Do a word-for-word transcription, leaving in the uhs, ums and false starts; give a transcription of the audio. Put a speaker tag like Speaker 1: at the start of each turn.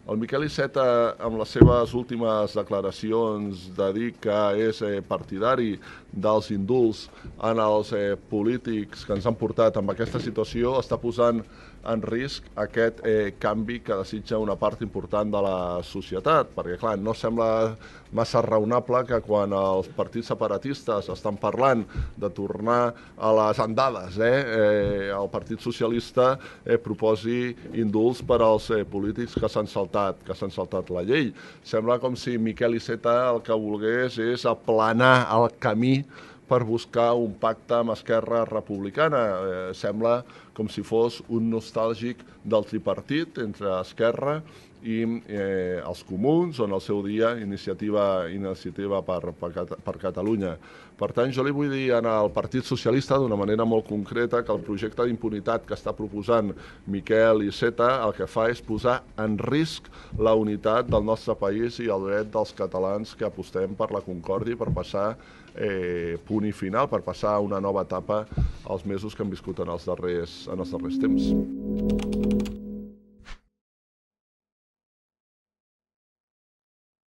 Speaker 1: El Miquel Iceta, amb les seves últimes declaracions de dir que és partidari dels indults en els polítics que ens han portat amb aquesta situació, està posant en risc aquest eh, canvi que desitja una part important de la societat, perquè clar, no sembla massa raonable que quan els partits separatistes estan parlant de tornar a les andades, eh, eh, el Partit Socialista eh, proposi indults per als eh, polítics que s'han saltat, que s'han saltat la llei. Sembla com si Miquel Iceta el que volgués és aplanar el camí per buscar un pacte amb Esquerra Republicana. Eh, sembla com si fos un nostàlgic del tripartit entre Esquerra i eh, els comuns, o en el seu dia iniciativa, iniciativa per, per, per Catalunya. Per tant, jo li vull dir al Partit Socialista d'una manera molt concreta que el projecte d'impunitat que està proposant Miquel Iceta el que fa és posar en risc la unitat del nostre país i el dret dels catalans que apostem per la concòrdia i per passar eh, punt i final, per passar a una nova etapa als mesos que hem viscut en els darrers, en els darrers temps.